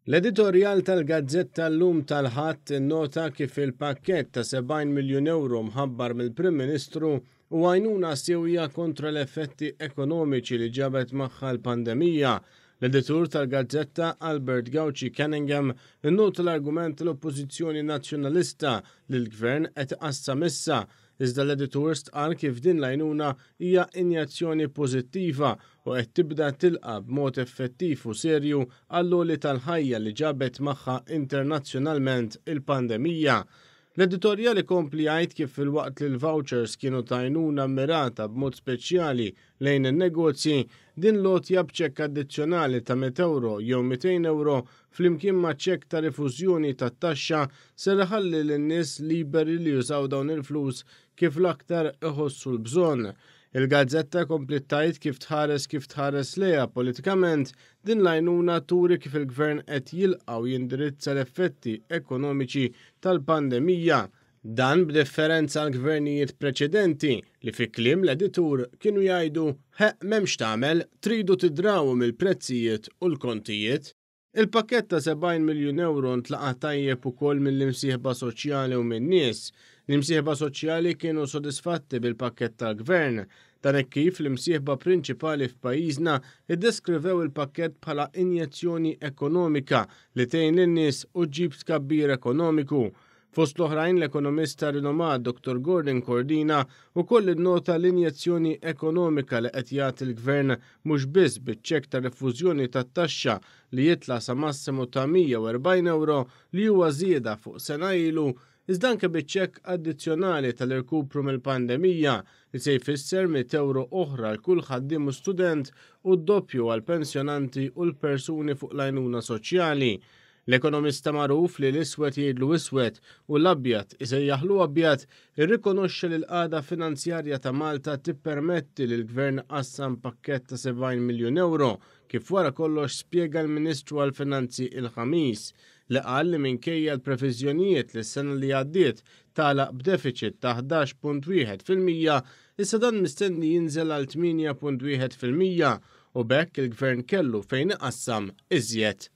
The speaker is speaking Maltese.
L-editorjal tal-gazzetta Llum tal-Ħadd innota kif il-pakkett ta' 70 miljun ewro mħabbar mill-Prim Ministru huwa għajnuna siewja kontra l-effetti ekonomiċi li ġabet magħha l-pandemija. L-editur tal-gazzetta Albert Gauci Cunningham innota l-argument tal-Oppożizzjoni Nazzjonalista li l-Gvern qed iqassam issa Iżda l-editur stqarr kif din l-għajnuna hija injezzjoni pożittiva u qed tibda tilqa' b'mod effettiv u serju għall-għoli tal-ħajja li ġabet magħha internazzjonalment il-pandemija. L-editorjal ikompli jgħid kif filwaqt li l-vouchers kienu ta' għajnuna mmirata b'mod speċjali lejn in-negozji, din l-għotja b'ċekk addizzjonali ta' mitt ewro jew 200 ewro flimkien ma' ċekk ta' rifużjoni tat-taxxa ser iħalli lin-nies liberi li jużaw dawn il-flus kif l-aktar iħossu l-bżonn. Il-gazzetta kompliet tgħid kif tħares kif tħares lejha politikament, din l-għajnuna turi kif il-Gvern qed jilqa' u jindirizza l-effetti ekonomiċi tal-pandemija. Dan b'differenza għal gvernijiet preċedenti li fi kliem l-editur kienu jgħidu ħeqq m'hemmx tagħmel, tridu tidrawu mill-prezzijiet u l-kontijiet. Il-pakkett ta' 70 miljun ewro ntlaqa' tajjeb ukoll mill-imsieħba soċjali u min-nies. L-imsieħba soċjali kienu sodisfatti bil-pakkett tal-Gvern. Dan hekk kif l-imsieħba prinċipali f'pajjiżna ddeskrivew il-pakkett bħala injezzjoni ekonomika li tgħin lin-nies u ġġib tkabbir ekonomiku. Fost l-oħrajn l-ekonomista rinomat Dr. Gordon Cordina wkoll innota l-injezzjoni ekonomika li qed jagħti l-Gvern mhux biss biċ-ċekk ta' rifużjoni tat-taxxa li jitla' sa massimu ta' 140 ewro li huwa żieda fuq sena ilu iżda anke biċ-ċekk addizzjonali tal-irkupru mill-pandemija li se jfisser 100 ewro oħra għal kull ħaddiem u student u d-doppju għall-pensjonanti u l-persuni fuq l-għajnuna soċjali. L-ekonomista magħruf li l-iswed jgħidlu iswed u l-abjad isejjaħlu abjad irrikonoxxa li l-qagħda finanzjarja ta' Malta tippermetti li l-Gvern qassam pakkett ta' 70 miljun ewro, kif wara kollox spjega l-Ministru għall-Finanzi il-Ħamis, li qal li minkejja l-previżjonijiet li s-sena li għaddiet tagħlaq b'defiċit ta' 11.1%, issa dan mistenni jinżel għal 8.1% u b'hekk il-Gvern kellu fejn iqassam iżjed.